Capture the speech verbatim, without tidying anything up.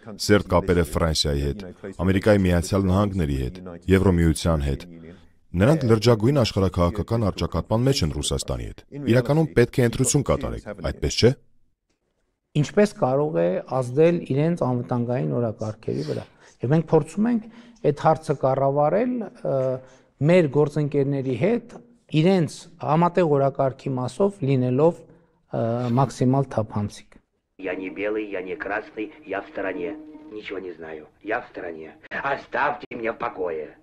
սերտ կապեր է Ֆրանսիայի հետ, Ամերիկայի Միացյալ Նահանգների հետ, Եվրոմիության հետ։ Նրանք լրջագույն աշխարհաքաղաքական առճակատման մեջ են Ռուսաստանի հետ։ Իրականում պետք է ընտրություն կատարեք, այդպես չէ՞։ Ինչպես կարող է ազդել իրենց անվտանգային օրակարգերի վրա։ Եվ մենք փորձում ենք այդ հարցը կառավարել մեր գործընկերների հետ իրենց համատեղ օրակարգի մասով լինելով մաքսիմալ թափանցիկ։ Я не белый, я не красный, я в стороне. Ничего не знаю. Я в стороне. Оставьте меня в покое.